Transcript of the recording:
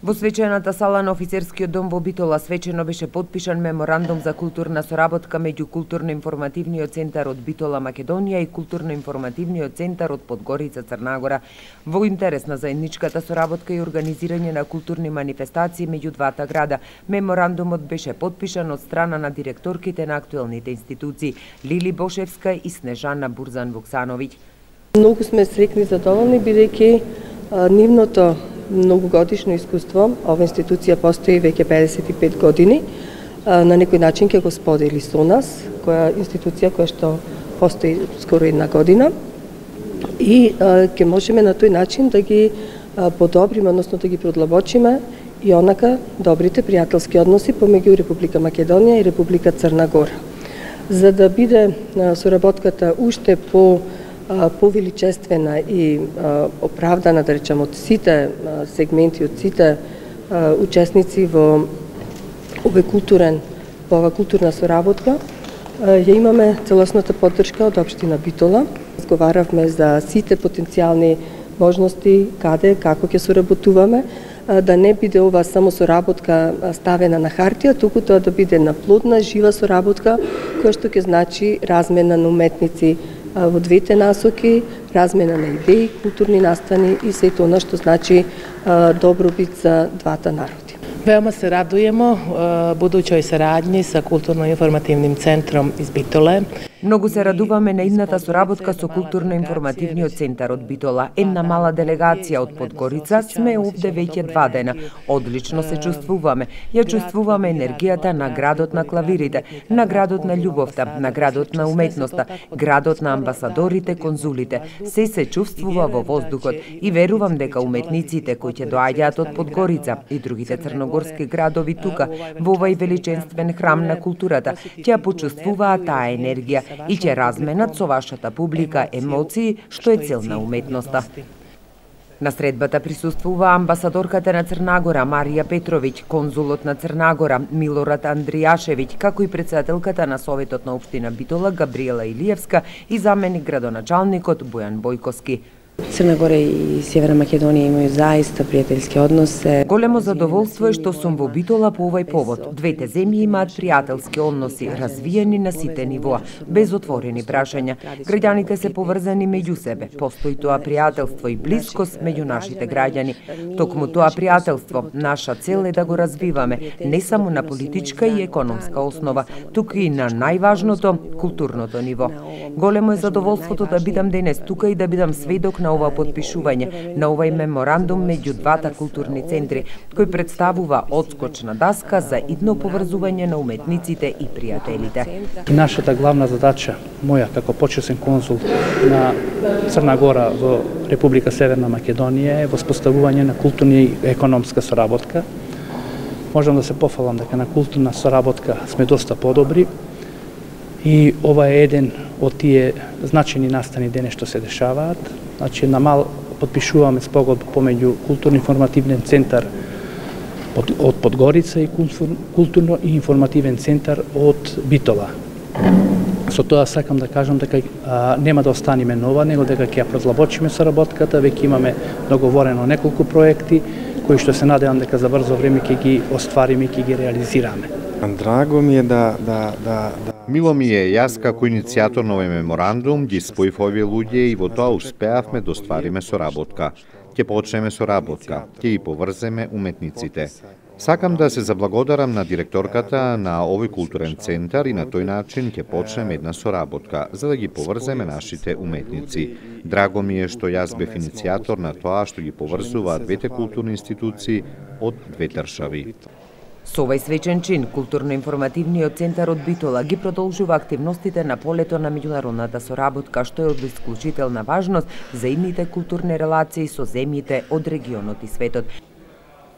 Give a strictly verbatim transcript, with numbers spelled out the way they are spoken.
Во свечената сала на Офицерскиот дом во Битола свечено беше потпишан меморандум за културна соработка меѓу Културно-информативниот центар од Битола, Македонија и Културно-информативниот центар од Подгорица, Црнагора. Во интерес на заедничката соработка и организирање на културни манифестации меѓу двата града, меморандумот беше потпишан од страна на директорките на актуелните институции Лили Бошевска и Снежана Бурзан-Вуксановиќ. Многу сме среќни и задоволни бидејќи нивното многогодишно искуство, ова институција постои веќе педесет и пет години, на некој начин ќе го сподели со нас, која институција која што постои скоро една година, и ќе можеме на тој начин да ги подобриме, односно да ги продлабочиме и онака добрите пријателски односи помеѓу Република Македонија и Република Црна Гора. За да биде соработката уште по повеличествена и оправдана, да речем, од сите сегменти, од сите учесници во овој културен, во ова културна соработка, ја имаме целосната поддршка од општина Битола. Разговаравме за сите потенцијални можности, каде, како ќе соработуваме, да не биде ова само соработка ставена на хартија, туку тоа да биде на плодна, жива соработка, која што ќе значи размена на уметници во двете насоки, размена на идеи, културни настани и се тоа што значи добробит за двата народи. Veoma se radujemo budućoj saradnji sa Kulturno-informativnim centrom iz Bitole. Многу се радуваме на идната соработка со Културно-информативниот центар од Битола. Една мала делегација од Подгорица сме овде веќе два дена. Одлично се чувствуваме. Ја чувствуваме енергијата на градот на клавирите, на градот на љубовта, на градот на уметноста, градот на амбасадорите, конзулите. Се се чувствува во воздухот и верувам дека уметниците кои ќе доаѓаат од Подгорица и другите црногорски градови тука, во овој величествен храм на културата, ќе почувствуваат таа енергија и ќе разменат со вашата публика емоции, што е цел на уметноста. На средбата присуствува амбасадорката на Црнагора Марија Петровиќ, конзулот на Црнагора Милорад Андријашевиќ, како и председателката на Советот на општина Битола Габриела Илиевска и заменик градоначалникот Бојан Бојковски. Црна Гора и Северна Македонија имају заиста пријателски односи. Големо задоволство е што сум во Битола по овој повод. Двете земји имаат пријателски односи, развиени на сите нивоа, без отворени прашања. Граѓаните се поврзани меѓу себе. Постои тоа пријателство и блискост меѓу нашите граѓани. Токму тоа пријателство, наша цел е да го развиваме, не само на политичка и економска основа, туку и на најважното, културното ниво. Големо е задоволството да бидам денес тука и да бидам сведок на ова потпишување, на овој меморандум меѓу двата културни центри, кој представува одскочна даска за идно поврзување на уметниците и пријателите. Нашата главна задача, моја како почесен конзул на Црна Гора во Република Северна Македонија е воспоставување на културна и економска соработка. Можам да се пофалам дека на културна соработка сме доста подобри и ова е еден од тие значајни настани денес што се дешаваат. Значи, на мал подпишуваме спогодба помеѓу Културно-информативен центар од Подгорица и Културно и информативен центар од Битола. Со тоа сакам да кажам дека а, нема да останеме нова, него дека ќе ја продлабочиме соработката, веќе имаме договорено неколку проекти кои што се надевам дека за брзо време ќе ги оствариме и ќе ги реализираме. Драго ми е да, да, да, да... Мило ми е, јас како иницијатор на овој меморандум ги споив овие луѓе и во тоа успеавме да оствариме соработка. Ќе почнеме соработка, ќе ги поврземе уметниците. Сакам да се заблагодарам на директорката на овој културен центар и на тој начин ќе почнеме една соработка за да ги поврземе нашите уметници. Драго ми е што јас бев иницијатор на тоа што ги поврзуваат двете културни институции од две држави. Со овој свечен чин, Културно-информативниот центар од Битола ги продолжува активностите на полето на меѓународната соработка, што е од исклучителна важност за идните културни релации со земјите од регионот и светот.